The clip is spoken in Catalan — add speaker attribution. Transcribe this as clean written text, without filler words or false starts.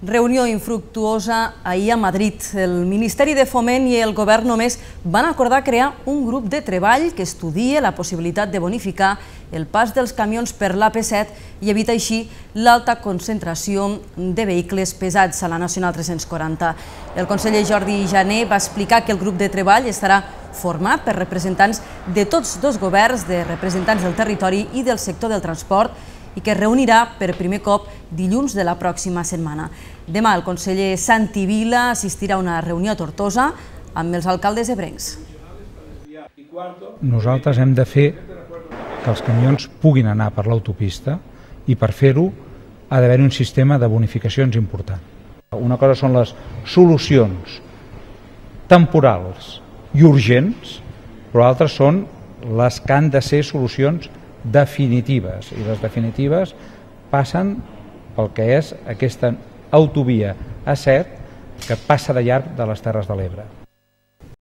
Speaker 1: Reunió infructuosa ahir a Madrid. El Ministeri de Foment i el Govern només van acordar crear un grup de treball que estudia la possibilitat de bonificar el pas dels camions per l'AP7 i evita així l'alta concentració de vehicles pesats a la Nacional 340. El conseller Jordi Jané va explicar que el grup de treball estarà format per representants de tots dos governs, de representants del territori i del sector del transport, i que es reunirà per primer cop dilluns de la pròxima setmana. Demà el conseller Santi Vila assistirà a una reunió a Tortosa amb els alcaldes ebrencs.
Speaker 2: Nosaltres hem de fer que els camions puguin anar per l'autopista i per fer-ho ha d'haver un sistema de bonificacions important. Una cosa són les solucions temporals i urgents, però altres són les que han de ser solucions definitives, i les definitives passen pel que és aquesta autovia A7 que passa de llarg de les Terres de l'Ebre.